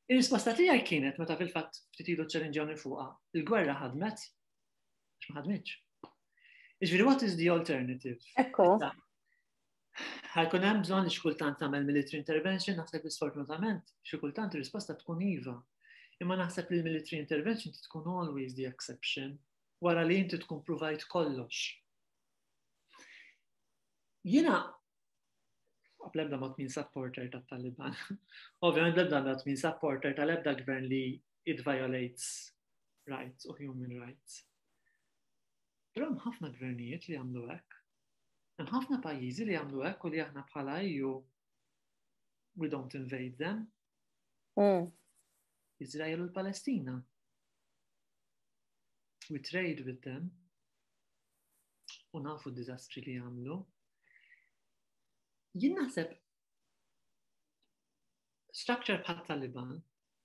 Ir-risposta tiegħi kienet meta fil-fatt ftit ilu ċċellinġjawni fuqha, il-gwerra ħadmet, għax ma ħadmitx. Iġifieri what is the alternative? Ekku. Ħajkun hemm bżonn li xi kultant tagħmel military intervention, naħseb li sfortunatament xi kultant ir-risposta tkun iva. Imma naħseb li l-military intervention tkun always the exception wara li inti tkun provajt kollox. Jiena bl-ebda mod min supporter tat-Taliban. Ovvjament bl-ebda mod min supporter tal-ebda gvern li it violates rights u human rights. Però hemm ħafna gvernijiet li jagħmlu hekk. Hemm ħafna pajjiżi li jagħmlu hekk u li aħna bħala EU we don't invade them. Izrael u l-Palestina. We trade with them. U nafu d-diżastri li jagħmlu. Jien naħseb structure bħat Taliban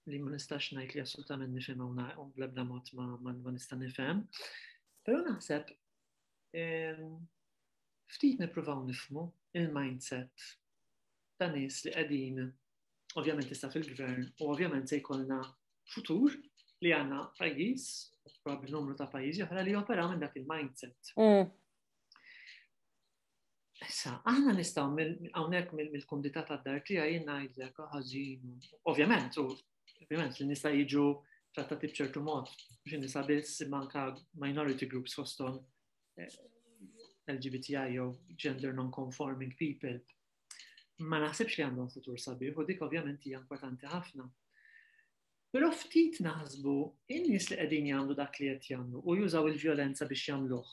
li ma nistax ngħid li assolutament nifhem u bl-ebda mod ma, ma, ma nista' nifhem, però naħseb ftit nippruvaw nifhmu il-mindset ta' nies li qegħdin ovvjament issa fil-gvern u ovvjament se jkollna futur li għandna pajjiż, probabbli numru ta' pajjiżi oħra li joperaw minn dak il-mindset. Issa, aħna nistgħu hawnhekk mill-kumdità tad-dar tiegħi jien ngħidlek oh, ħażin. Ovvjament, u ovvjament li nista' jiġu trattati b'ċertu mod, mhux nisa biss imma anka minority groups fosthom eh, LGBTI jew gender non-conforming people. Ma naħsibx li għandhom futur sabiħ u dik ovvjament hija inkwetanti ħafna. Però ftit naħsbu in-nies li qegħdin jagħmlu dak li qed jagħmlu u jużaw il-vjolenza biex jagħmluh.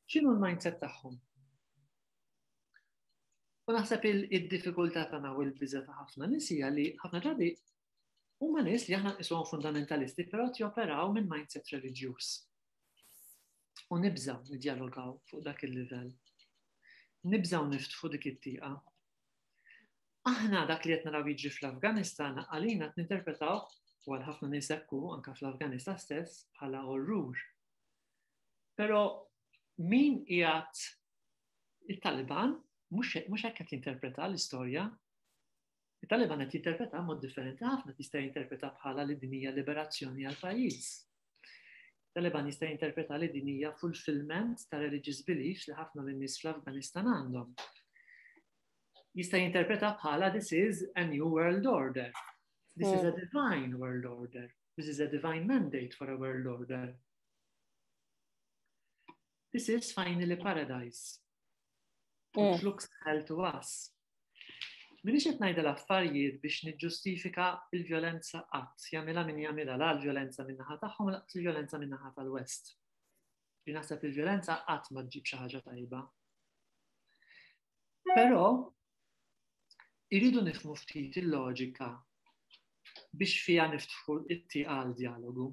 X'inhu l-mindset tagħhom? U naħseb il-diffikultà tagħna u l-biża ta' ħafna nies hija li ħafna drabi huma nies li aħna nqisuhom fundamentalisti, però qed joperaw minn mindset reliġjuż. U nibżaw nidjalogaw fuq dak il-livell. Nibżaw niftħu dik it-tieqa. Aħna dak li qed naraw jiġri fl-Afganistan għalina qed ninterpretaw u għal ħafna nies hekk hu anke fl-Afganistan stess bħala orrur. Però min qiegħed it-Taliban mhux hekk qed jinterpreta l-istorja. Il-Taliban qed jinterpreta mod differenti ħafna, jista' jinterpreta bħala li din hija liberazzjoni għal pajjiż. Taliban jista' jinterpreta li din hija fulfillment ta' religious beliefs li ħafna minn nies fl-Afganistan għandhom. Jista' jinterpreta bħala this is a new world order. This is a hmm. divine world order. This is a divine mandate for a world order. This is finally paradise. Which looks hell to us. Minix qed ngħidha l-affarijiet biex niġġustifika l-vjolenza qatt, jagħmilha min jagħmilha la l-vjolenza min-naħa tagħhom laqas il-vjolenza min-naħa tal-West. Li naħseb il-vjolenza qatt ma ġġib xi ħaġa tajba. Però irridu nifhmu ftit il-loġika biex fiha niftħu it-tieqa għal dialogu.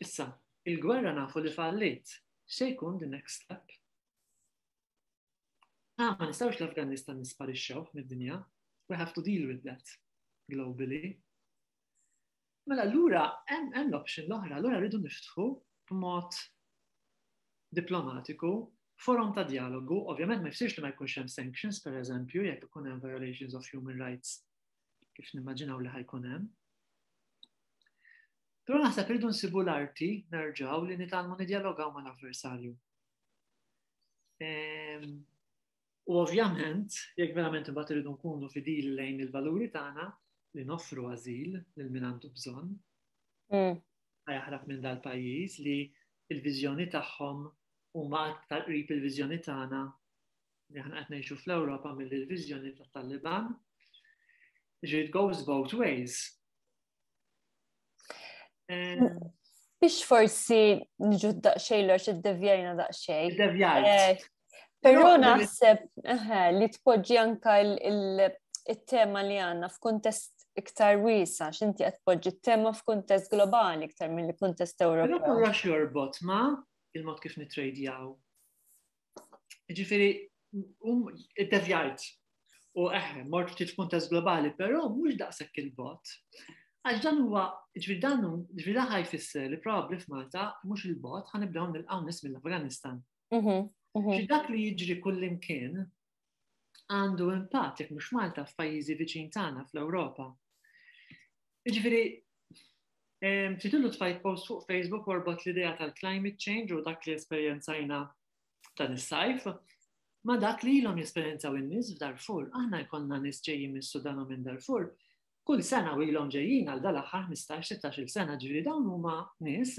Issa, il-gwerra nafu li fallit. X'se jkun the next step? Ah, ma nistgħux l-Afganistan nisparixxewh mid-dinja. We have to deal with that globally. Mela allura hemm l-option l-oħra, allura rridu niftħu b'mod diplomatiku forum ta' dialogu, ovvjament ma jfissirx li ma jkunx hemm sanctions, per eżempju, jekk ikun hemm violations of human rights kif nimmaġinaw li ħajkun hemm. Però naħseb irridu nsibu l-arti nerġgħu li nitgħallmu nidjalogaw mal-avversarju. Ehm, u ovvjament, jekk verament imbagħad irridu nkunu fidili lejn il-valuri tagħna li noffru ażil lil min għandu bżonn. Jaħrab minn dal-pajjiż li il-viżjoni tagħhom huma aktar qrib il-viżjoni tagħna li aħna qed ngħixu fl-Ewropa milli l-viżjoni tat-Taliban. It goes both ways. Biex forsi niġu daqxej l id-devjajna daqxej. Devjajt. Eh, però naħseb li tpoġġi anka il-tema li għanna f'kuntest iktar wiesa, x'inti qed tpoġġi t-tema f'kuntest globali iktar mill kuntest Ewropew. Però kollox jorbot ma il-mod kif nitrejdjaw. Ġifieri, um, id-devjajt. U eħe, mort ftit f'kuntest globali, però mhux daqshekk il-bot. Għax dan huwa, ġifieri dan ġifieri dan ħajfisser li probabbli f'Malta mhux il-bot ħanibdew nilqgħu nies mill-Afganistan. Mhm, mhm. Dak li jiġri kullimkien għandu impatt jekk mhux Malta f'pajjiżi viċin tagħna fl-Ewropa. Jiġifieri, ftit tfajt post fuq Facebook warbot l-idea tal-climate change u dak li esperjenzajna dan is-sajf ma dak li ilhom jesperjenzaw in-nies f'Darfur. Aħna jkollna nies ġejjin mis-Sudan u minn Darfur. Kull sena u ilhom ġejjin għal dal-aħħar 15-16 sena ġifieri dawn huma nies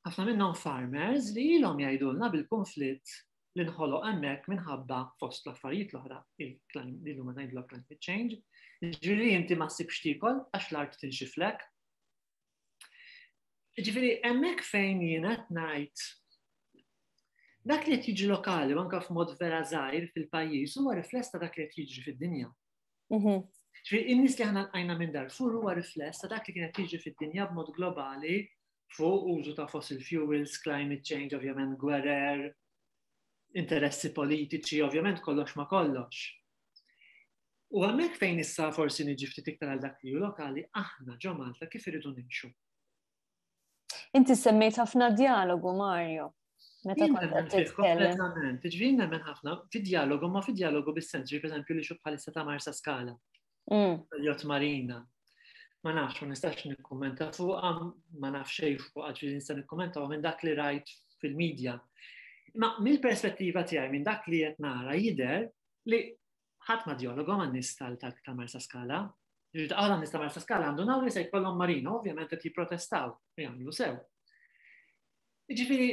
ħafna minnhom farmers li ilhom jgħidulna bil-konflitt li nħoloq hemmhekk minħabba fost l-affarijiet l-oħra li huma ngħidlu climate change. Ġifieri inti ma ssibx tiekol għax l-art tinxiflek. Ġifieri hemmhekk fejn jien qed ngħid dak li qed jiġri lokali u anke f'mod vera żgħir fil-pajjiż huwa rifless ta' dak li qed jiġri fid-dinja. Ġifieri in-nies li aħna lqajna minn Darfur huwa rifless ta' dak li kien qed jiġri fid-dinja b'mod globali fuq użu ta' fossil fuels, climate change, ovvjament gwerer, interessi politiċi, ovvjament kollox ma kollox. U hemmhekk fejn issa forsi niġi ftit iktar għal dak li hu lokali, aħna ġo Malta kif irridu nimxu. Inti semmejt ħafna dialogu, Mario. Meta kont qed titkellem. Kompletament, ġifieri nemmen ħafna fid-dialogu, ma fid-dialogu bis-sens, ġifieri pereżempju li xu bħalissa ta' Marsa Skala. Jot Marina. Ma nafx, ma nistax nikkummenta fuqha, ma nafx xejn fuqha, ġifieri nista' nikkummenta minn dak li rajt fil-medja. Ma mill-perspettiva tiegħi minn dak li qed nara jidher li ħadd ma dialogu ma' nies ta' Marsa Skala. Ġifieri għala nies ta' Marsa Skala għandu naw li se jkollhom marina, ovvjament qed jipprotestaw u jagħmlu sew. Ġifieri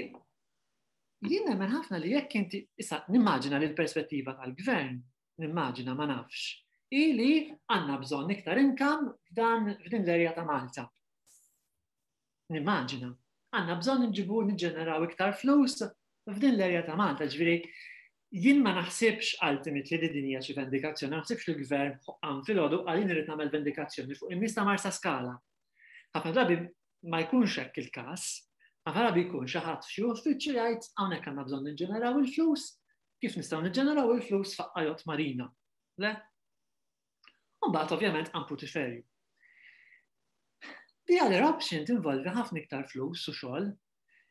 jien nemmen ħafna li jekk inti issa nimmaġina li l-perspettiva tal-gvern nimmaġina ma nafx, hi li għandna bżonn iktar income f'dan f'din l-erja ta' Malta. Nimmaġina. Għandna bżonn nġibu niġġeneraw iktar flus f'din l-erja ta' Malta, ġifieri jien ma naħsibx ultimately li din hija xi vendikazzjoni, ma naħsibx li l-gvern qam filgħodu qal jien irid nagħmel vendikazzjoni fuq in-nies ta' Marsa Skala. Ħafna drabi ma jkunx hekk il-każ, ħafna drabi jkun xi ħadd f'xi uffiċċju jgħid hawnhekk għandna bżonn niġġeneraw il-flus, kif nistgħu niġġeneraw il-flus faqqa jott marina. Le? U mbagħad ovvjament għan putiferju. The other option tinvolvi ħafna iktar flus u xogħol.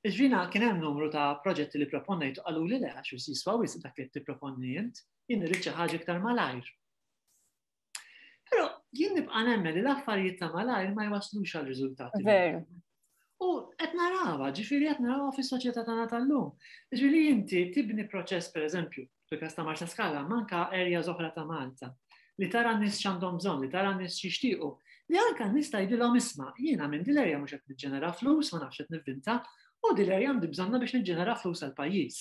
Iġvina kien hemm numru ta' proġetti li proponnejt u qalu li le għax jiswa wisq dak li tipproponni int, jien irrid xi ħaġa iktar malajr. Però jien nibqa' nemmen li l-affarijiet ta' malajr ma jwaslux għal riżultati. Veru. U qed narawha, ġifieri qed narawha fis-soċjetà tagħna tal-lum. Ġifieri inti tibni proċess pereżempju, fil-każ ta' Marsa Skala, manka areas oħra ta' Malta, li tara n-nies x'għandhom bżonn, li tara n-nies x'jixtiequ, li anke n-nies tgħidilhom isma' jiena minn din l-area mhux qed niġġenera flus, ma nafx qed nivvinta, u din l-area għandi bżonna biex niġġenera flus għall-pajjiż.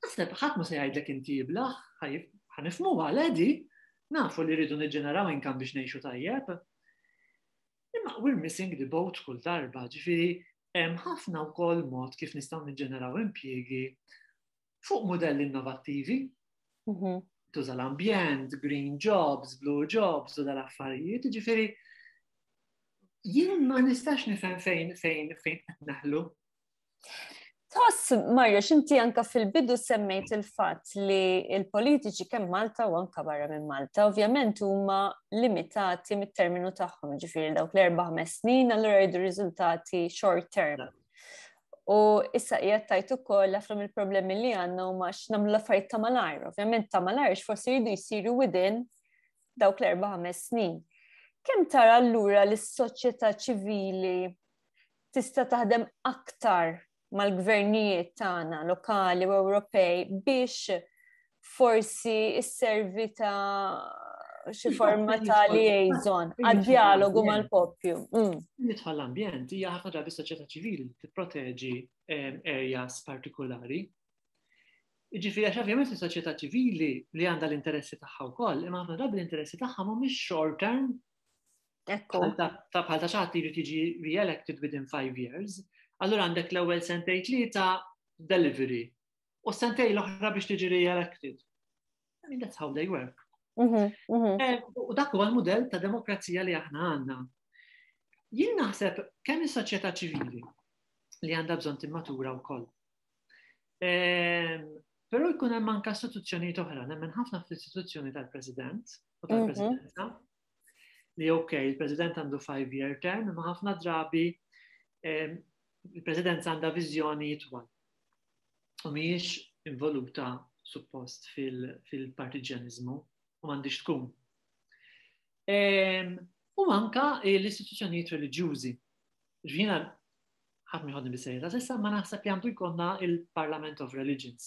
Naħseb ħadd ma se jgħidlek inti iblaħ, ħanifhmuha għal nafu li rridu niġġeneraw income biex ngħixu tajjeb. Imma we're missing the boat kull darba, ġifieri hemm ħafna wkoll mod kif nistgħu niġġeneraw impjiegi fuq modelli innovattivi. Tuża l-ambjent, green jobs, blue jobs u dal-affarijiet, ġifieri jien ma nistax nifhem fejn fejn fejn qed naħlu. Tħoss, Mario, xinti anka fil-bidu semmejt il-fatt li il-politiċi kemm Malta u anka barra minn Malta, ovvjament huma limitati mit-terminu tagħhom, ġifieri dawk l-erba' ħames snin, allura jridu riżultati short term. U issa qiegħed tajt ukoll ħafna mill-problemi li għandna huma x'nagħmlu l-affarijiet ta' malajr. Ovvjament ta' malajr forsi jridu jsiru within dawk l-erba' ħames snin. Kemm tara allura li s-soċjetà ċivili tista' taħdem aktar mal-gvernijiet tagħna lokali u Ewropej biex forsi isservi ta' xi forma ta' liaison għad-dialogu mal-popju. Nidħol l-ambjent hija ħafna drabi soċjetà ċivili li tipproteġi areas partikolari. Jiġifieri għax ovvjament is-soċjetà ċivili li għandha l-interessi tagħha wkoll, imma ħafna drabi l-interessi tagħha mhumiex short term. Ekku. Ta' bħal ta' xi ħadd jrid jiġi re-elected within 5 years. Allura għandek l-ewwel sentejn tlieta delivery u sentejn l-oħra biex tiġi re-elected. I mean, that's how they work. U dak huwa l-mudell ta' demokrazija li aħna għandna. Jien naħseb kemm is-soċjetà ċivili li għandha bżonn timmatura wkoll. Però jkun hemm anke istituzzjonijiet oħra, nemmen ħafna fl-istituzzjoni tal-President u tal-Presidenza. Li ok, il-President għandu 5-year term, imma ħafna drabi il-Presidenza għandha viżjoni itwal. U mhijiex involuta suppost fil-partiġjanizmu u m'għandix tkun. U anka l-istituzzjonijiet reliġjużi. Ġvina ħadd miħodni bis-serjetà s'issa ma naħseb li għandu jkollna il-Parliament of Religions.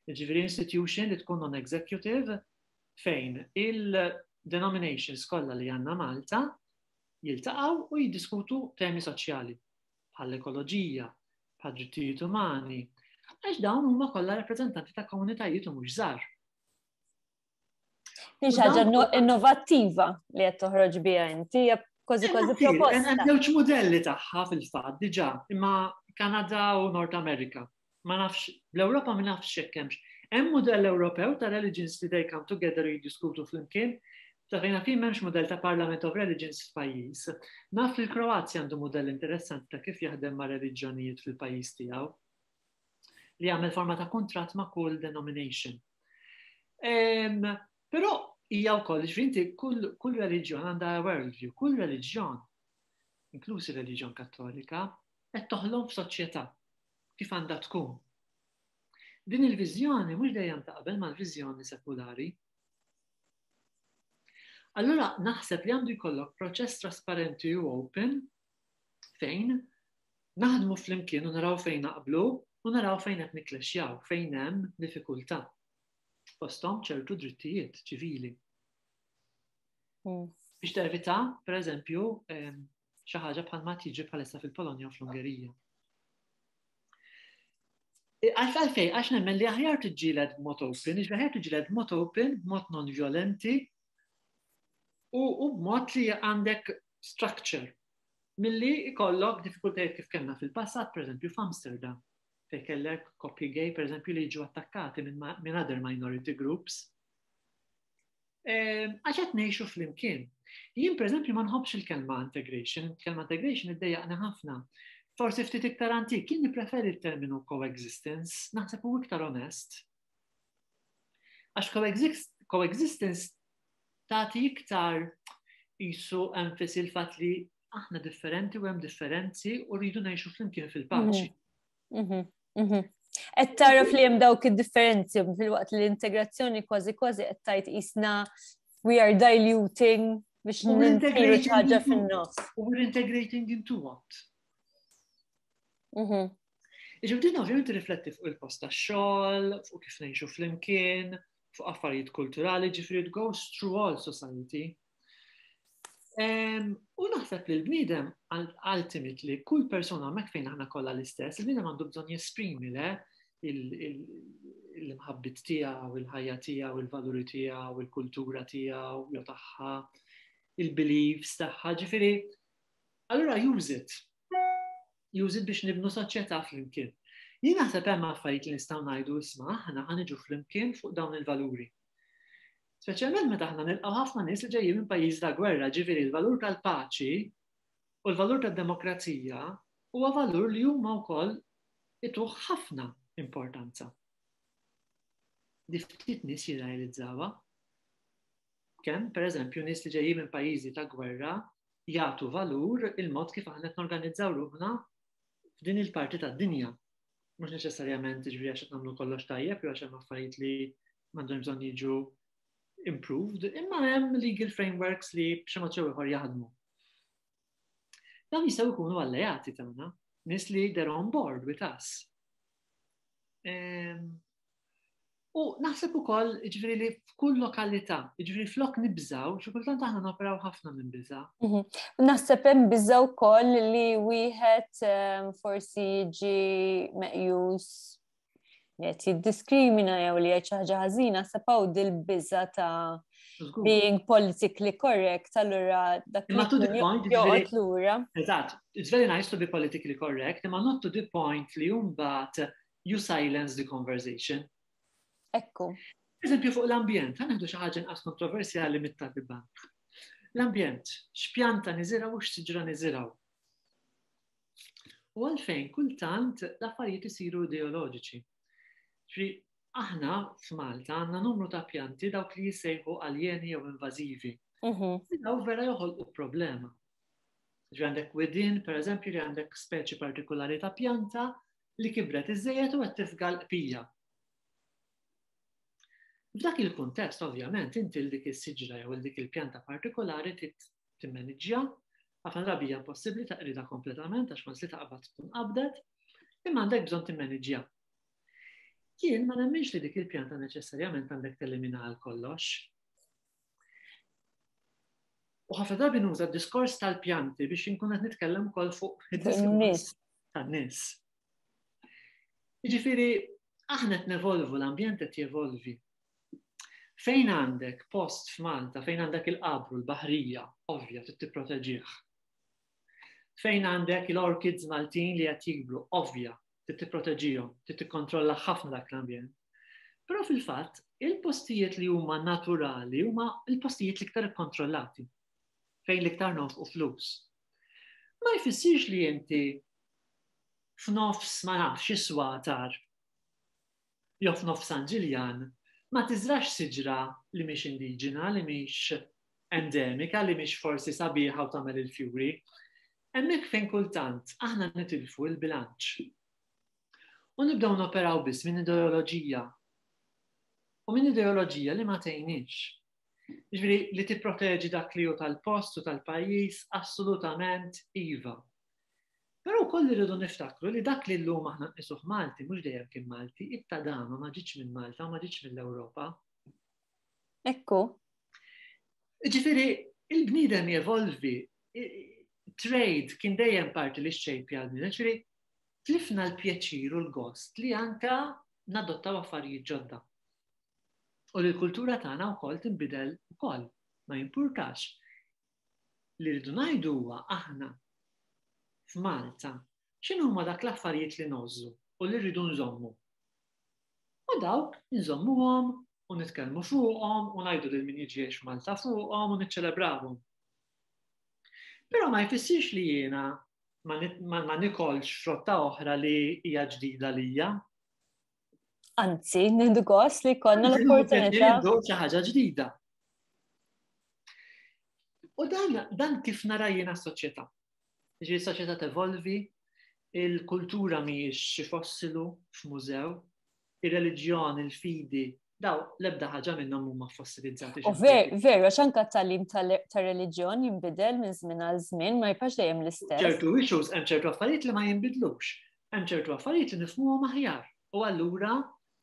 Ġifieri institution li tkun non-executive fejn il-denominations kollha li għandna Malta jiltaqgħu u jiddiskutu temi soċjali bħall-ekoloġija, bħal drittijiet umani, għax dawn huma kollha rappreżentanti ta' komunitajiet u mhux żgħar. Din ħaġa innovattiva li qed toħroġ biha inti, hija kważi kważi proposta. Hemm żewġ mudelli tagħha fil-fatt diġà, imma Kanada u Nord Amerika. Ma nafx, l-Ewropa ma nafx hekk hemmx. Hemm mudell Ewropew ta' religions li they come together u jiddiskutu flimkien, ta' fejn fin m'hemmx mudell ta' Parliament of Religions f'pajjiż. Naf li l-Kroazja għandu mudell interessanti ta' kif jaħdem ma' reliġjonijiet fil-pajjiż tiegħu li jagħmel forma ta' kuntratt ma' kull denomination. Però hija wkoll ġifieri kull, kull reliġjon għandha worldview, kull reliġjon, inkluż ir-reliġjon Kattolika, qed toħlom f'soċjetà kif għandha tkun. Din il-viżjoni mhux dejjem taqbel mal-viżjoni sekulari. Allura naħseb li għandu jkollok proċess trasparenti u open fejn naħdmu flimkien u naraw fejn naqblu u naraw fejn qed nikklexxjaw, fejn hemm diffikultà. Fosthom ċertu drittijiet ċivili. Biex tevita, per eżempju, xi ħaġa bħal ma tiġi bħalissa fil-Polonja u fl-Ungerija. Għalfej, għax nemmen li aħjar tiġġieled b'mod open, iġbi aħjar tiġġieled b'mod open, b'mod non-violenti u b'mod li għandek structure milli ikollok diffikultajiet kif kellna fil-passat, per eżempju f'Amsterdam, fejn kellek koppji gay, per eżempju, li jiġu attakkati minn other minority groups. Għax qed ngħixu flimkien. Jien per eżempju ma nħobbx il-kelma integration, il-kelma integration iddejjaqni ħafna. Forsi ftit iktar antik, jien nippreferi il-terminu coexistence, naħseb hu iktar onest. Għax coexistence tagħti iktar jisu enfasi l-fatt li aħna differenti u hemm differenzi u rridu ngħixu flimkien fil-paċi. Qed taraf li hemm dawk id-differenzi fil-waqt li l-integrazzjoni kważi kważi qed tgħid qisna we are diluting biex nintegru ħaġa fin-nofs. U we're integrating into what? Iġib din ovvjament rifletti fuq il-post tax-xogħol, fuq kif ngħixu flimkien, fuq affarijiet kulturali, ġifieri it goes through all society. U naħseb li l-bniedem ultimately kull persuna hemmhekk fejn aħna kollha l-istess, il-bniedem għandu bżonn jesprimi le l-imħabbit tiegħu, il-ħajja tiegħu, il-valuri tiegħu, il-kultura tiegħu, jew tagħha, il-beliefs tagħha, ġifieri allura use it. Use it biex nibnu soċjetà flimkien. Jien naħseb hemm affarijiet li nistgħu ngħidu isma' aħna ħa niġu flimkien fuq dawn il-valuri. Speċjalment meta aħna nilqgħu ħafna nies li ġejjin minn pajjiż ta' gwerra, ġifieri l-valur tal-paċi u l-valur tad-demokrazija huwa valur li huma wkoll ituh ħafna importanza. Di ftit nies jirrealizzawha. Kemm, pereżempju, nies li ġejjin minn pajjiżi ta' gwerra jagħtu valur il-mod kif aħna qed norganizzaw ruħna f'din il-parti tad-dinja. Mhux neċessarjament ġifieri għax qed nagħmlu kollox tajjeb jew għax hemm affarijiet li m'għandhom bżonn jiġu improved, imma hemm legal frameworks li b'xi mod jew ieħor jaħdmu. Dawn jistgħu jkunu alleati tagħna, nies li they're on board with us. U naħseb ukoll ġifieri li f'kull lokalità, ġifieri flok nibżaw, xi kultant aħna noperaw ħafna minn biża. Naħseb hemm biża wkoll li wieħed forsi jiġi meqjus li qed jiddiskrimina jew li jgħid xi ħaġa ħażina, naħseb hawn dil-biża ta' being politically correct, allura dak Imma to the point, joqgħod lura. Eżatt, it's very nice to be politically correct, imma not to the point li mbagħad you silence the conversation. Ekku. Eżempju fuq l-ambjent, ħa nieħdu xi ħaġa inqas kontroversjali mit-Taliban. L-ambjent, x'pjanta niżirgħu u x'siġra niżirgħu. U għalfejn kultant l-affarijiet isiru ideoloġiċi. Ġifieri aħna f'Malta għandna numru ta' pjanti dawk li jissejħu aljeni jew invażivi. Daw vera joħolqu problema. Ġifieri għandek widien, per eżempju, li għandek speċi partikolari ta' pjanta li kibret iżżejjed u qed tifga l-qpija. F'dak il-kuntest, ovvjament, inti l dik is-siġra jew dik il-pjanta partikolari trid timmaniġġja, ħafna drabi hija impossibbli taqridha kompletament għax once li taqbad tkun qabdet, imma għandek bżonn timmaniġġja. Jien ma nemminx li dik il-pjanta neċessarjament għandek telimina għal kollox. U ħafna drabi nuża d-diskors tal-pjanti biex inkun qed nitkellem ukoll fuq id-diskors tan-nies. Jiġifieri aħna qed nevolvu, l-ambjent qed jevolvi. Fejn għandek post f'Malta, fejn għandek il-qabru, l-baħrija, ovvja, trid tipproteġih. Fejn għandek il-orchids Maltin li qed jikbru, ovvja, trid tipproteġihom, trid tikkontrolla ħafna dak l-ambjent. Però fil-fatt, il-postijiet li huma naturali huma l-postijiet l-iktar ikkontrollati, fejn l-iktar nofqu flus. Ma jfissirx li inti f'nofs ma nafx is-swatar jew f'nofs San Ġiljan ma tiżrax siġra li mhix indiġena, li mhix endemika, li mhix forsi sabiħa u tagħmel il-fjuri. Hemmhekk fejn kultant aħna nitilfu l-bilanċ. U nibdew noperaw biss minn ideoloġija. U minn ideoloġija li ma tgħinix. Jiġifieri li tipproteġi dak li hu tal-post u tal-pajjiż assolutament iva. Però wkoll irridu niftakru li dak li llum aħna nqisuh Malti mhux dejjem kien Malti, it-tadama ma ġietx minn Malta u ma ġietx mill-Ewropa. Ekku. Ġifieri, il-bniedem jevolvi, trade kien dejjem parti li xejpja l-bniedem, ġifieri tlifna l-pjaċir u l-gost li anka nadottaw affarijiet ġodda. U li l-kultura tagħna wkoll tinbidel ukoll, ma jimpurtax. Li rridu ngħidu huwa aħna f'Malta x'inhuma dak l-affarijiet li ngħożżu u li rridu nżommu. U dawk nżommuhom u nitkellmu fuqhom u ngħidu lil min jiġi jgħix f'Malta fuqhom u niċċelebrawhom. Però ma jfissirx li jiena ma, ma, ma nikolx frotta oħra li hija ġdida lija. Anzi, nieħdu gost li konna l-opportunità. Xi ħaġa ġdida. U dan, dan kif nara jiena s-soċjetà. Ġifieri s-soċjetà tevolvi, il-kultura mhijiex xi fossilu f'mużew, ir-reliġjon, il-fidi, daw l-ebda ħaġa minnhom huma fossilizzati. U ver, veru, għax anka t-tagħlim tar-reliġjon jinbidel minn żmien għal żmien ma jibqax dejjem l-istess. Ċertu issues hemm ċertu affarijiet li ma jinbidlux. Hemm ċertu affarijiet li nifhmuhom aħjar. U allura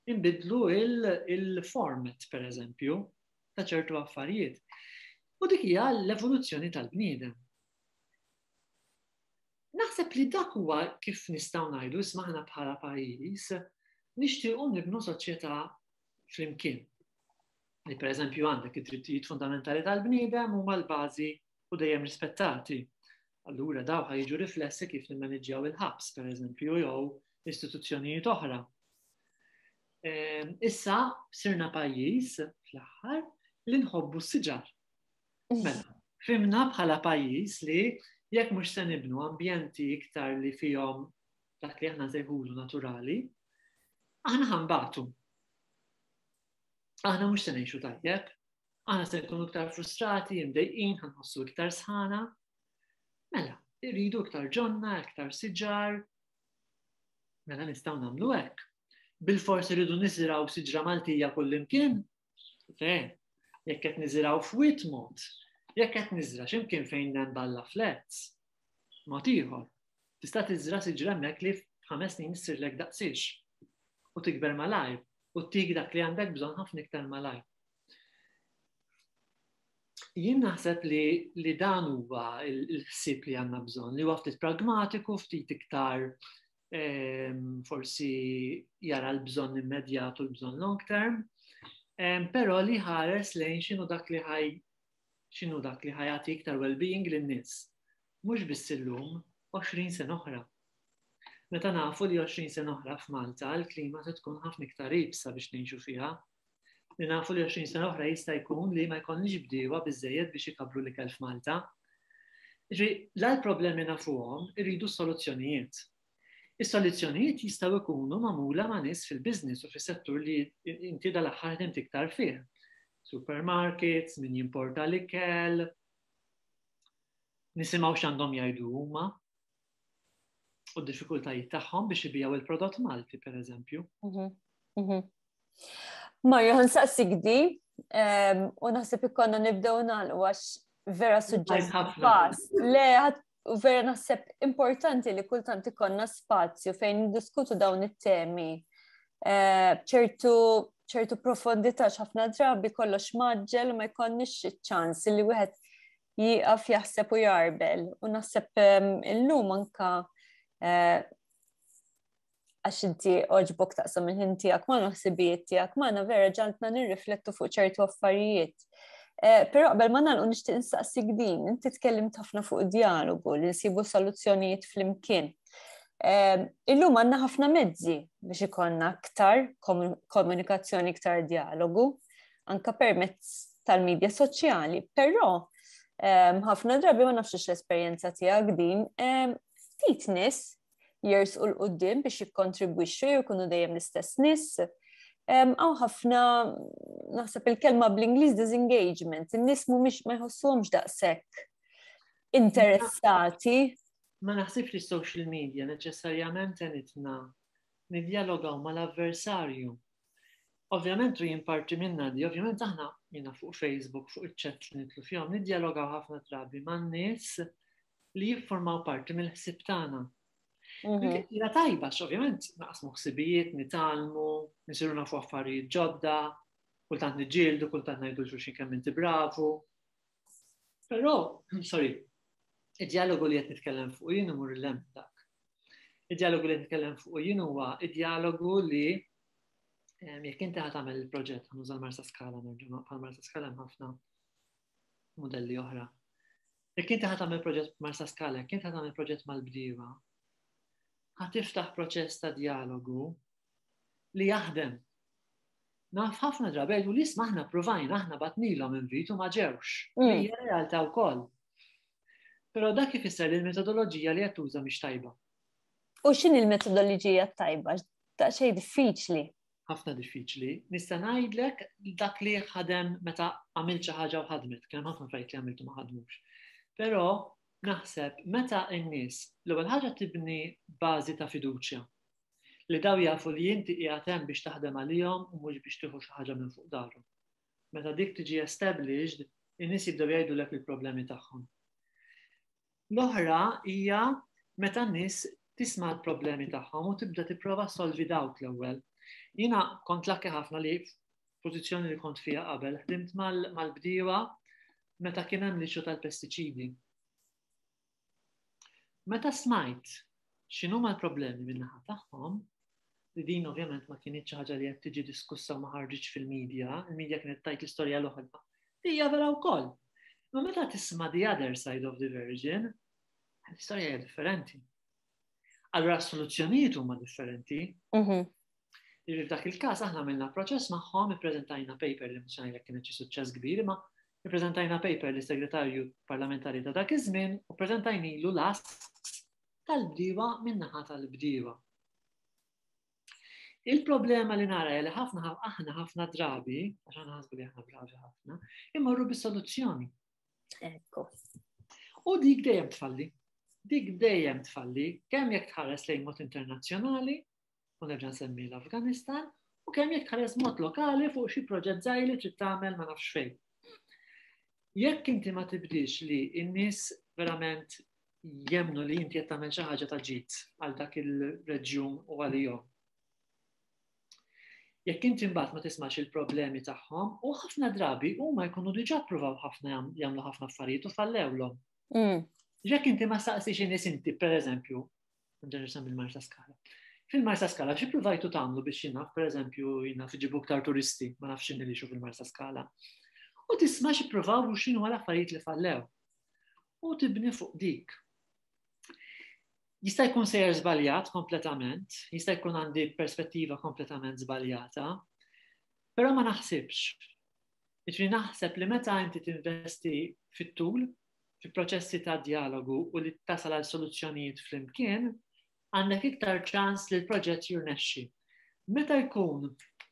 inbidlu il-format, per eżempju, ta' ċertu affarijiet. U dik hija l-evoluzzjoni tal-bniedem. Naħseb li dak huwa kif nistgħu ngħidu isma' aħna bħala pajjiż nixtiequ nibnu soċjetà flimkien. Li pereżempju għandek id-drittijiet fundamentali tal-bniedem huma l-bażi u dejjem rispettati. Allura daw ħajġu riflessi kif nimmaniġġjaw il-ħabs, pereżempju, jew istituzzjonijiet oħra. Ehm, issa sirna pajjiż fl-aħħar li nħobbu s-siġar. Mela, fimna bħala pajjiż li jekk mhux se nibnu ambjenti iktar li fihom dak li aħna nsejħulu naturali, aħna ħanbatu. Aħna mhux se ngħixu tajjeb, aħna se nkunu iktar frustrati, imdejqin, ħanħossu iktar sħana. Mela, irridu iktar ġonna, iktar siġar. Mela nistgħu nagħmlu hekk. Bil-fors irridu niżraw siġra Maltija kullimkien? Le, jekk qed niżraw f'wied mod, jekk qed niżra x'imkien fejn hemm balla flats, mod ieħor. Tista' tiżra siġra hemmhekk li f'ħames snin issirlek daqsiex u tikber malajr u ttik dak li għandek bżonn ħafna iktar malajr. Jien naħseb li, li dan huwa il-ħsieb li għandna bżonn, li huwa ftit pragmatiku, ftit iktar ehm, forsi jara l-bżonn immedjat u l-bżonn long term, ehm, però li ħares lejn x'inhu dak li ħaj x'inhu dak li ħajati iktar well-being lin-nies. Mhux biss illum, 20 sena oħra. Meta nafu li 20 sena oħra f'Malta l-klima se tkun ħafna iktar ibsa biex ngħixu fiha. Li nafu li 20 sena oħra jista' jkun li ma jkollniex bdiewa biżejjed biex ikabbru l-ikel f'Malta. Ġifieri, la l-problemi nafuhom, irridu soluzzjonijiet. Is-soluzzjonijiet jistgħu jkunu magħmula ma' nies fil-business u fis-settur li inti dal-aħħar ħdimt iktar fih. Supermarkets, min jimporta l-ikel, nisimgħu x'għandhom jgħidu huma u d-diffikultajiet tagħhom biex ibijaw il-prodott Malti, per eżempju. Mhm, mhm. Mario, nsaqsik di, u naħseb ikonna nibdew nagħlqu għax Vera suġġett vast. Le, u vera naħseb importanti li kultant ikollna spazju fejn niddiskutu dawn it-temi eh, b'ċertu ċertu profondità ħafna drabi kollox maġġel u ma jkollniex iċ-ċans li wieħed jieqaf jaħseb u jarbel. U naħseb ehm, illum anka eh, għax inti oġbok taqsam il-ħin tiegħek ma ħsibijiet tiegħek magħna vera ġaltna nirriflettu fuq ċertu affarijiet. Eh, però qabel ma nagħlqu nixtieq insaqsik din, inti tkellimt ħafna fuq dialogu li nsibu soluzzjonijiet flimkien. Eh, illum għandna ħafna mezzi biex ikollna aktar komunikazzjoni, iktar dialogu, anka permezz tal-medja soċjali, però eh, ħafna drabi ma nafx l-esperjenza tiegħek din, ftit nies jersqu 'l quddiem biex jikkontribwixxu jew jkunu dejjem l-istess nies. Hawn ħafna naħseb il-kelma bl-Ingliż disengagement, in-nies mhumiex ma jħossuhomx daqshekk interessati. Ma naħsibx li social media neċessarjament għenitna nidjalogaw mal-avversarju. Ovvjament u jien parti minna di, ovvjament aħna jiena fuq Facebook, fuq iċ-chat li nitlu fihom, nidjalogaw ħafna drabi man-nies li jiffurmaw parti mill-ħsieb tagħna. Mhm. Hija tajba, ovvjament naqsmu ħsibijiet, nitgħallmu, nisiru nafu affarijiet ġodda, kultant niġġieldu, kultant ngħidu xulxin kemm inti bravu. Però, sorry, id-dialogu li qed nitkellem fuq jien imur l dak. Id-dialogu li qed nitkellem fuq jien huwa id-dialogu li jekk inti ħa tagħmel il-proġett, ħanuża l-Marsa Skala nerġa' bħal Marsa Skala hemm ħafna modelli oħra. Jekk inti ħa tagħmel proġett Marsa Skala, jekk inti ħa tagħmel proġett mal-bdiewa, ħa tiftaħ proċess ta' dialogu li jaħdem. Naf ħafna drabi jgħidu li isma' aħna provajna, aħna batnilhom invit u ma ġewx. Hija realtà wkoll. Però dak ifisser li l-metodoloġija li qed tuża mhix tajba. U x'inhi l-metodoloġija tajba? Daqsxejn diffiċli. Ħafna diffiċli. Nista' ngħidlek dak li ħadem meta għamilt xi ħaġa u ħadmet, kien hemm ħafna affarijiet li għamiltu ma ħadmux. Però naħseb meta n-nies l-ewwel ħaġa tibni bażi ta' fiduċja li daw jafu li inti qiegħed hemm biex taħdem għalihom u mhux biex tieħu xi ħaġa minn fuq darhom. Meta dik tiġi established, in-nies jibdew jgħidulek il-problemi tagħhom. L-oħra hija meta n-nies tisma' l-problemi tagħhom u tibda tipprova solvi dawk l-ewwel. Jiena kont lucky ħafna li pożizzjoni li kont fiha qabel ħdimt mal-bdiewa meta kien hemm l-issue tal-pestiċidi. Meta smajt x'inhuma l-problemi min-naħa tagħhom, li din ovvjament ma kinitx xi ħaġa li qed tiġi diskussa u ma ħarġitx fil-medja, il-medja kienet tajt l-istorja l-oħra. Hija vera wkoll. Ma meta tisma' the other side of the version, l-istorja hija differenti. Allura s-soluzzjonijiet huma differenti. Jiġifieri f'dak il-każ aħna għamilna proċess magħhom, ippreżentajna paper li mhux ngħidlek kienet xi suċċess kbir, imma ippreżentajna paper lis segretarju parlamentari ta' dak iż-żmien u ppreżentajnilu l-asks tal-bdiewa min-naħa tal-bdiewa. Il-problema li nara li ħafna aħna ħafna drabi, għax aħna ħasbu li aħna bravi ħafna, immorru bis-soluzzjoni. Ekku. U dik dejjem tfalli. Dik dejjem tfalli, kemm jekk tħares lejn mod internazzjonali, u nerġa' nsemmi l-Afganistan, u kemm jekk tħares mod lokali fuq xi proġett żgħir li trid tagħmel ma nafx fejn. Jekk inti ma tibdix li n-nies verament jemmnu li inti qed tagħmel xi ħaġa ta' ġid għal dak il-reġjun u għalihom. Jekk inti mbagħad ma tismax il-problemi tagħhom, u ħafna drabi huma jkunu diġà ppruvaw ħafna jagħmlu ħafna affarijiet u fallewlhom. Jekk inti ma saqsix in-nies inti, pereżempju, nerġa' nsemmi l-Marsa Skala. Fil-Marsa Skala xi ppruvajtu tagħmlu biex jien naf, pereżempju, jien naf iġibu iktar turisti, ma nafx x'inhi li fil-Marsa Skala. U tisma' xi ppruvaw u x'inhu l-affarijiet li fallew. U tibni fuq dik. Jista' jkun sejjer żbaljat kompletament, jista' jkun għandi perspettiva kompletament żbaljata, però ma naħsibx. Jiġifieri naħseb li meta inti tinvesti fit-tul, fi proċessi ta' djalogu u li tasal għal soluzzjonijiet flimkien, għandek iktar ċans li l-proġett jirnexxi. Meta jkun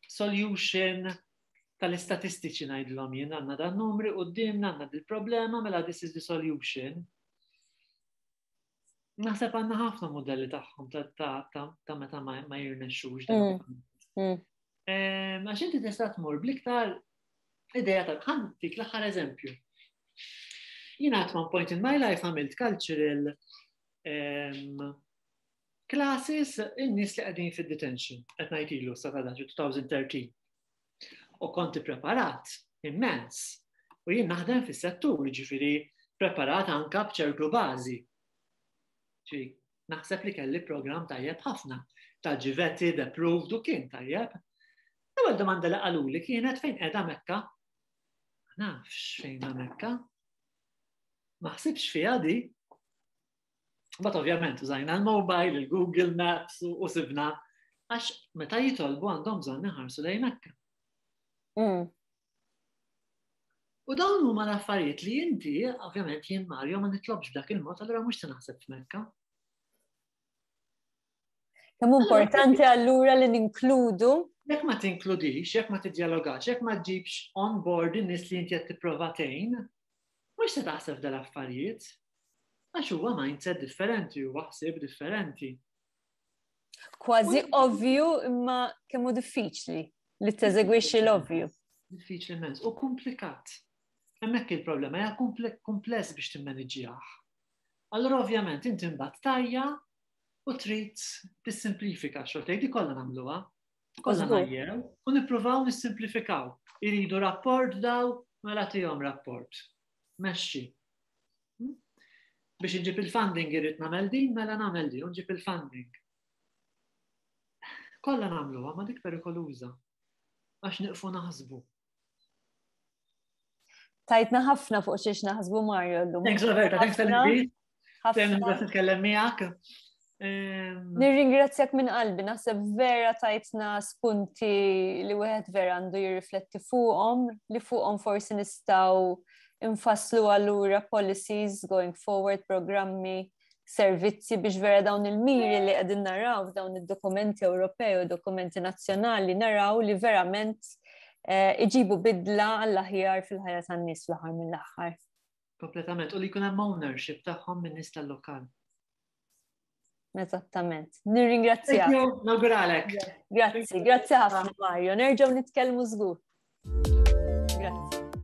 solution tal-istatistiċi ngħidilhom jien għandna dan numri quddiemna għandna dil-problema mela this is the solution. Naħseb għandna ħafna modelli tagħhom ta' meta ma jirnexxux. Għax inti tista' tmur bl-iktar idea ta' ħantik l-aħħar eżempju. Jiena at one point in my life għamilt cultural classes in-nies li qegħdin fid-detention, qed ngħid ilu sa ta' 2013. U konti preparat immens. U jien naħdem fis-settur, ġifieri preparat anka b'ċertu bażi. Ġifieri naħseb li kelli program tajjeb ħafna ta' ġivetti, approved u kien tajjeb. L-ewwel domanda li qaluli kienet fejn qiegħda Mekka. Ma nafx fejn Mekka. Ma ħsibx fiha di. But ovvjament użajna l-mobile, il-Google Maps u sibna għax meta jitolbu għandhom bżonn iħarsu lejn Mekka. U dawn huma l-affarijiet li inti, ovvjament jien Mario ma nitlobx b'dak il-mod, allura mhux se naħseb f'Mekka. Kemm importanti allura li ninkludu? Jekk ma tinkludix, jekk ma tiddialogax, jekk ma ġibx on board in-nies li inti qed tipprova tgħin, mhux se taħseb dal-affarijiet. Għax huwa mindset differenti, huwa ħsieb differenti. Kważi ovvju imma kemm hu diffiċli li teżegwixxi l-ovvju. Diffiċli immens u komplikat. Hemmhekk il-problema hija kumpless biex timmaniġġjah. Allura ovvjament inti mbagħad tajja u trid tissimplifika xogħol tgħid kollha nagħmluha. Kollha ngħajjew u nippruvaw nissimplifikaw. Iridu rapport daw, mela tihom rapport. Mexxi. Hmm? Biex inġib il-funding irrid nagħmel din, mela nagħmel din, nġib il-funding. Kollha nagħmluha ma dik perikoluża. Għax niqfu naħsbu. Tajtna ħafna fuq xiex naħsbu Mario llum. Thanks Roberta, thanks tal-invit. Ħafna nitkellem miegħek. Nirringrazzjak minn qalbi, naħseb vera tajtna spunti li wieħed vera għandu jirrifletti fuqhom, li fuqhom forsi nistgħu infasslu allura policies going forward, programmi servizzi biex vera dawn il-miri li qegħdin naraw f'dawn id-dokumenti Ewropej u dokumenti nazzjonali naraw li verament eh, iġibu bidla għall-aħjar fil-ħajja tan-nies fl-aħħar mill-aħħar. Kompletament, u li jkun hemm ownership tagħhom minn nies tal-lokal. Eżattament. Nirringrazzjak. Nawguralek. Grazzi, grazzi ħafna Mario. Nerġgħu nitkellmu żgur.